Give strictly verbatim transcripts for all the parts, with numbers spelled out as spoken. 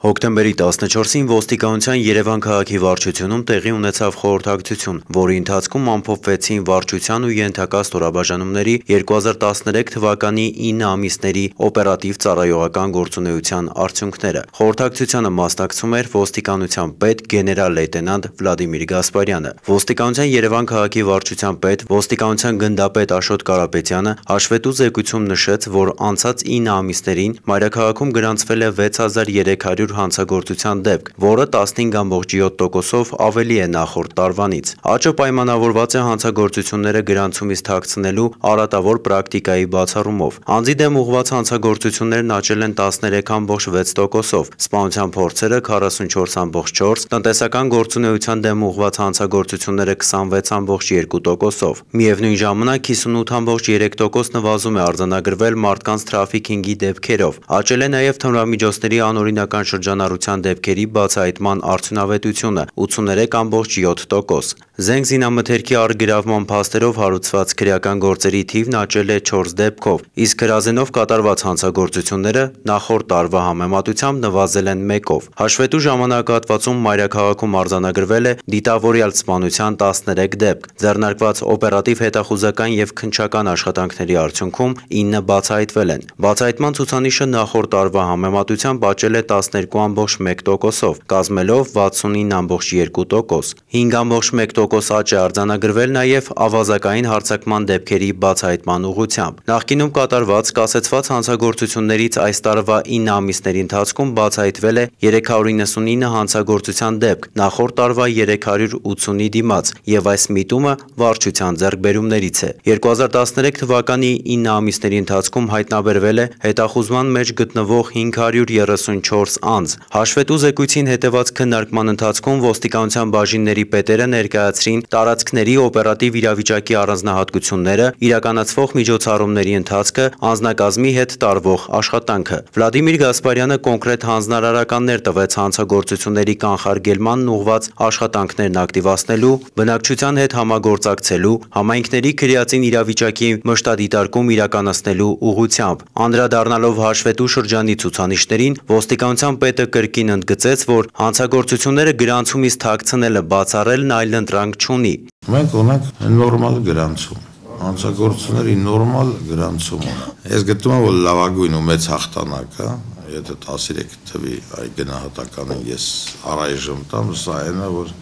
Հոկտեմբերի տասնչորսին ոստիկանության Երևան քաղաքի վարչությունում տեղի ունեցավ խորհրդակցություն, որի ընթացքում ամփոփվեցին վարչության ու ենթակա ստորաբաժանումների երկու հազար տասներեք թվականի ինը ամիսների օպերատիվ ծառայողական գործունեության արդյունքները։ Խորհրդակցությանը մասնակցում էր ոստիկանության պետ գեներալ լեյտենանտ Վլադիմիր Գասպարյանը։ Ոստիկանության Երևան քաղաքի վարչության պետ, ոստիկանության գնդապետ Աշոտ Կարապետյանը հաշվետու զեկույցում նշեց, որ անցած ինը ամիսներին մայրաքաղաքում գրանցվել է վեց հազար երեք հարյուր հանցագործության դեպք, որը տասնհինգ կoma յոթ տոկոսով ավելի է նախորդ տարվանից։ Աճը պայմանավորված է հանցագործությունները գրանցումից թաքցնելու արատավոր պրակտիկայի բացառումով։ Անձի դեմ ուղղված հանցագործություններն աճել են տասներեք կoma վեց տոկոսով, սպանության փորձերը քառասունչորս կoma չորս, տնտեսական գործունեության դեմ ուղղված հանցագործությունները քսանվեց կoma երկու տոկոսով։ Միևնույն ժամանակ հիսունութ կoma երեք տոկոս նվազում է արձանագրվել մարդկանց թրաֆիքինգի դեպքերով։ Աճել է նաև թմրամիջոցների անօրինական շրջանառության դեպքերի բացահայտման արդյունավետությունը ութսուներեք կoma յոթ տոկոս։ Զենք զինամթերքի առգրավման փաստերով հարուցված քրեական գործերի թիվն աճել է չորս դեպքով, իսկ հրազենով կատարված հանցագործությունները նախորդ տարվա համեմատությամբ նվազել են մեկով։ Հաշվետու ժամանակահատվածում մայրաքաղաքում արձանագրվել է դիտավորյալ սպանության տասներեք դեպք, ձեռնարկված օպերատիվ հետախուզական եւ քննչական աշխատանքների արդյունքում ինը բացահայտվել են։ Բացահայտման ցուցանիշը նախորդ տարվա համեմատությամբ աճել է տասներկու կoma մեկ տոկոսով, կազմելով վաթսունինը կoma երկու տոկոս։ հինգ կoma մեկ տոկոս աճ է արձանագրվել նաև ավազակային հարձակման դեպքերի բացահայտման ուղղությամբ։ Նախկինում կատարված կասեցված հանցագործություններից այս տարվա ինը ամիսների ընթացքում բացահայտվել է երեք հարյուր իննսունինը հանցագործության դեպք, նախորդ տարվա երեք հարյուր ութսունի դիմաց, եւ այս միտումը վարչության ձեռքբերումներից է։ երկու հազար տասներեք թվականի ինը ամիսների ընթացքում հայտնաբերվել է հետախուզման մեջ գտնվող հինգ հարյուր երեսունչորս անձ։ Հաշվետու զեկույցին հետևած քննարկման ընթացքում ոստիկանության բաժինների պետերը ներկայացրին տարածքների օպերատիվ իրավիճակի առանձնահատկությունները, իրականացվող միջոցառումների ընթացքը, անձնակազմի հետ տարվող աշխատանքը։ Վլադիմիր Գասպարյանը կոնկրետ հանձնարարականներ տվեց հանցագործությունների կանխարգելմանն ուղղված աշխատանքներն ակտիվացնելու, բնակչության հետ համագործակցելու, համայնքների քրեածին իրավիճակի մշտադիտարկում իրականացնելու ուղղությամբ։ Անդրադառնալով հաշվետու շրջանի ցուցանիշներին, ոստիկանության պետը կրկին ընդգծեց, որ հանցագործությունները գրանցումից թաքցնելը բացառելն այլընտրանք չունի։ Մենք ունենք նորմալ գրանցում, հանցագործությունների նորմալ գրանցում ունենք։ Ես գտնում եմ, որ լավագույն ու մեծ հաղթանակ է, եթե տասներեք թվի այ գնահատականին ես առայժմ տամ, սա այն է, որ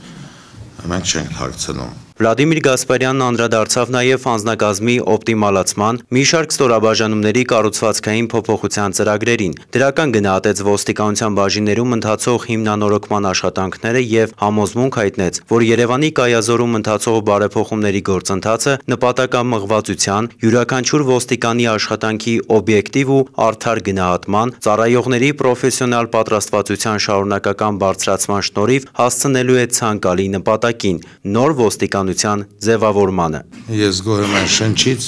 մենք չենք թաքցնում։ Վլադիմիր Գասպարյանն անդրադարձավ նաև անձնակազմի օպտիմալացման, մի շարք ստորաբաժանումների կառուցվածքային փոփոխության ծրագրերին։ Դրական գնահատեց ոստիկանության բաժիններում ընթացող հիմնանորոգման աշխատանքները եւ համոզմունք հայտնեց, որ Երևանի կայազորում ընթացող բարեփոխումների գործընթացը նպատակամղվածության, յուրաքանչյուր ոստիկանի աշխատանքի օբյեկտիվ ու արդար գնահատման, ծառայողների պրոֆեսիոնալ պատրաստվածության շարունակական բարձրացման շնորհիվ հասցնելու է ցանկալի նպատակին՝ նոր ոստիկան ձևավորմանը։ Ես գոհ եմ այն շնչից,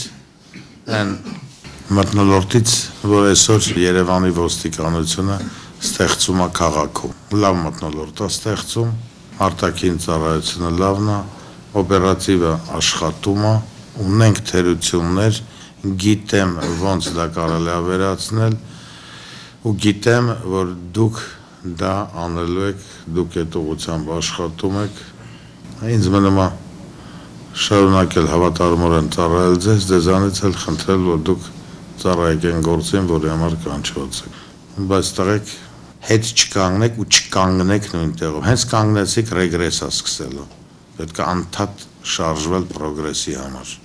այն մթնոլորտից, որ այսօր Երևանի ոստիկանությունը ստեղծում է քաղաքում։ Լավ մթնոլորտ է ստեղծում, արտաքին ծառայությունը լավն է, օպերատիվը աշխատում է, ունենք թերություններ, գիտեմ ոնց դա կարելի է վերացնել ու գիտեմ, որ դուք դա անելու եք, դուք այդ ուղղությամբ աշխատում եք։ Ինձ մնում է շարունակել հավատարմորեն ծառայել ձեզ, ձեզանից էլ խնդրել, որ դուք ծառայեք այն գործին, որի համար կանչված եք։ Բայց տղեկ հետ չկանգնեք ու չկանգնեք նույն տեղում։ Հենց կանգնեցիք ռեգրես է սկսելու։ Պետք է անդադ շարժվել պրոգրեսի համար։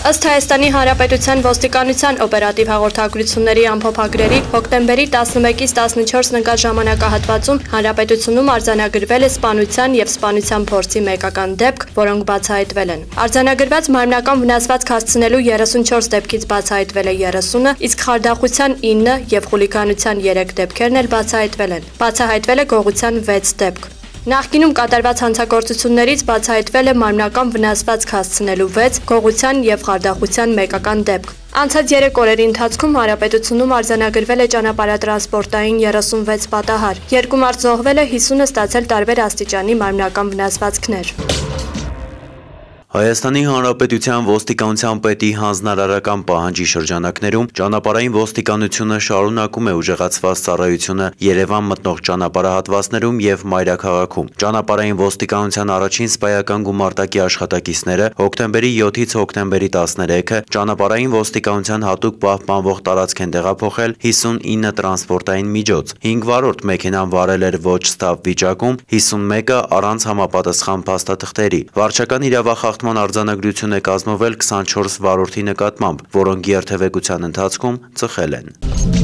Ըստ Հայաստանի Հանրապետության ոստիկանության օպերատիվ հաղորդագրությունների ամփոփագրերի հոկտեմբերի տասնմեկից տասնչորսն ընկած ժամանակահատվածում հանրապետությունում արձանագրվել է սպանության եւ սպանության փորձի մեկական դեպք, որոնք բացահայտվել են։ Արձանագրված մարմնական վնասվածք հասցնելու երեսունչորս դեպքից բացահայտվել է երեսունը, իսկ խարդախության ինը եւ խուլիգանության երեք դեպքերն էլ բացահայտվել են։ Բացահայտվել է գողության վեց դեպք։ Նախկինում կատարված հանցագործություններից բացահայտվել է մարմնական վնասվածք հասցնելու վեց, գողության եւ խարդախության մեկական դեպք։ Անցած երեք օրերի ընթացքում հանրապետությունում արձանագրվել է ճանապարհատրանսպորտային երեսունվեց պատահար։ Երկու մարդ զոհվել է, հիսունը ստացել տարբեր աստիճանի մարմնական վնասվածքներ։ Հայաստանի Հանրապետության ոստիկանության պետի հանձնարարական պահանջի շրջանակներում ճանապարհային ոստիկանությունը շարունակում է ուժեղացված ծառայությունը Երևան մտնող ճանապարհահատվածներում եւ մայրաքաղաքում։ Ճանապարհային ոստիկանության առաջին սպայական գումարտակի աշխատակիցները հոկտեմբերի յոթից հոկտեմբերի տասներեքը ճանապարհային ոստիկանության հատուկ պահպանվող տարածք են տեղափոխել հիսունինը տրանսպորտային միջոց, հինգ վարորդ մեքենան վարել էր ոչ ստավ վիճակում, հիսունմեկը առանց համապատասխան փաստաթղթերի։ Վարչական իրավախախտման արձանագրություն է կազմվել քսանչորս վարորդի նկատմամբ, որոնք երթևեկության ընթացքում ծխել են։